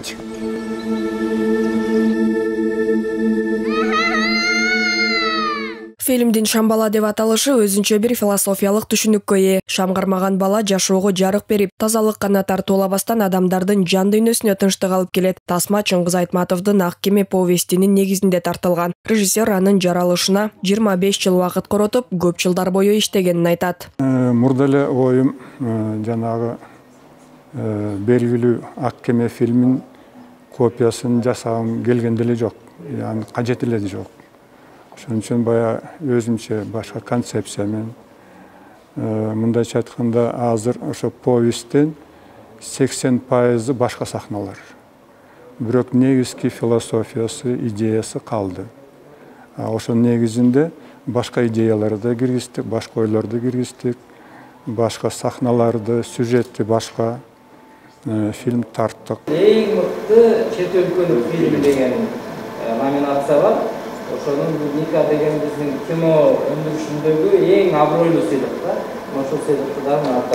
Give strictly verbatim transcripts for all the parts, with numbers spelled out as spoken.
Калачы. Фильмдин Шамбала деп аталышы өзүнчө бир философиялык түшүнүккө ээ. Шам кармаган бала жашоого жарык берип, тазалык гана тартуулабастан адамдардын жан дүйнөсүнө тынчтык алып келет. Тасма Чыңгыз Айтматовдун Ак кеме повестинин негизинде тартылган. Режиссер анын жаралышына жыйырма беш жыл убакыт коротуп, көп жылдар бою иштегенин айтат. Мурда эле оюм жанагы белгилүү Ак кеме фильмин копиясын жасагым келген деле жок. Яны кажет эле жок. Ошон үчүн бая өзүмчө башка концепция менен мындайча айтканда азыр ошо повесттин сексен пайызы башка сахналар. Бирок негизги философиясы, идеясы калды. Ошонун негизинде башка идеяларды да киргиздик, башка ойлорду киргиздик, башка сахналарды, сюжетти башка фильм тарттык. Эң мыкты чет өлкөнүн фильми деген номинация бар. Ошонун Ника деген биздин кино өндүрүшүндөгү эң абройлуу сыйлык да. Ошол сыйлыкты да алып.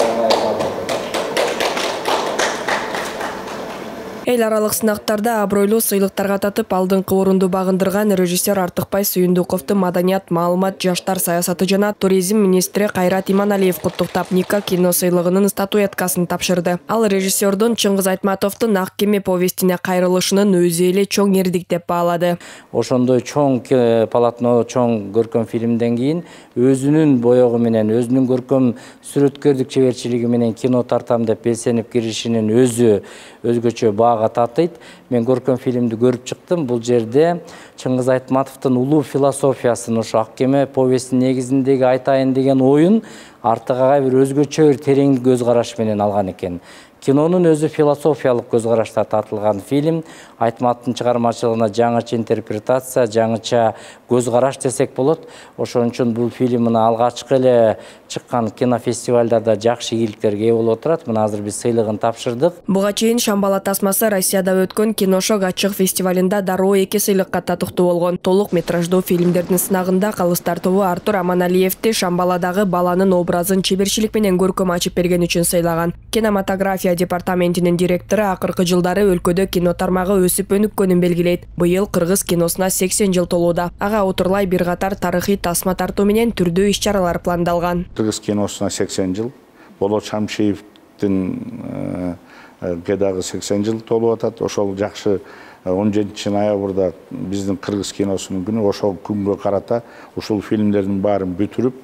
Эл аралык сынактарда абройлуу сыйлыктарга татып алдыңкы орунду багындырган режиссер Артыкбай Сүйүндүковду Маданият, маалымат, жаштар саясаты жана туризм министри Кайрат Иманалиев куттуктап, Ника кино сыйлыгынын статуэткасын тапшырды. Ал режиссердун Чыңгыз Айтматовдун Ак кеме повестине кайрылышынын өзү эле чоң эрдик деп баалады. Ошондой чоң полотно, чоң көркөм фильмден кийин өзүнүн боёгу менен, өзүнүн көркөм сүрөткөрдүк чеберчилиги менен кино тартам деп белсенип киришинин өзү өзгөчө баага татыйт. Мен көркөм фильмди көрүп чыктым. Бул жерде Чыңгыз Айтматовдун улуу философиясын, ошо Ак кеме повестинин негизиндеги айтайын деген оюн артыга бир өзгөчө бир терең көз караш менен алган экен. Кинонун өзү философиялык көз карашта тартылган фильм. Айтматовдун чыгармачылыгына жаңыча интерпретация, жаңыча көз караш десек болот. Ошон үчүн бул фильм мына алгачкы эле чыккан кинофестивалдарда жакшы ийгиликтерге ээ болуп отурат. Мына азыр биз сыйлыгын тапшырдык. Буга чейин Шамбала тасмасы Россияда өткөн Киношок ачык фестивалында дароо эки сыйлыкка татыктуу болгон. Толук метраждуу фильмдердин сынагында Калыстар тобу Артур Аманалиевди Шамбаладагы баланын образын чеберчилик менен көркөм ачып берген үчүн сыйлаган. Кинематография департаментинин директору акыркы жылдары өлкөдө кино тармагы өсүп өнүккөнүн белгилейт. Быйыл кыргыз киносуна сексен жыл толууда. Ага отурлай бир катар тарыхый тасма тартуу менен түрдүү иш-чаралар пландалган. Кыргыз киносуна сексен жыл, Болот Шамшиевдин дагы сексен жыл толуп атат. Ошол жакшы он жетинчи ноябрда биздин кыргыз киносунун күнү. Ошол күнгө карата ушул фильмдердин баарын бүтүрүп,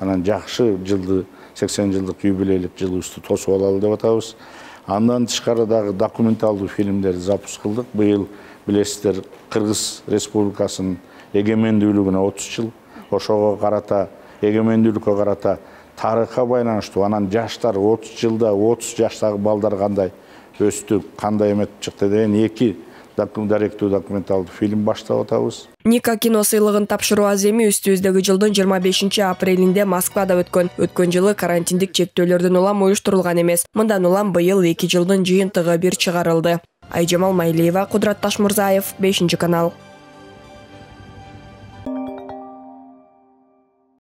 анан жакшы жылды сексен жылдык юбилейлик жылыбызды тосуп алалы деп атабыз. Андан тышкары дагы документалдуу фильмдерди запуск кылдык. Быйыл билесиздер, Кыргыз Республикасынын эгемендүүлүгүнө отуз жыл. Ошого карата, эгемендүүлүккө карата тарыхка байланыштуу, анан жаштар отуз жылда отуз жаштагы балдар кандай өстү, кандай эметип чыкты деген эки даректүү документалдуу фильм баштап атабыз. Ника кино сыйлыгын тапшыруу аземи үстүбүздөгү жылдын жыйырма бешинчи апрелинде Москвада өткөн. Өткөн жылы карантиндик чектөөлөрдөн улам уюштурулган эмес. Мындан улам быйыл эки жылдын жыйынтыгы бир чыгарылды. Айжамал Майлиева, Кудрат Ташмурзаев, бешинчи канал.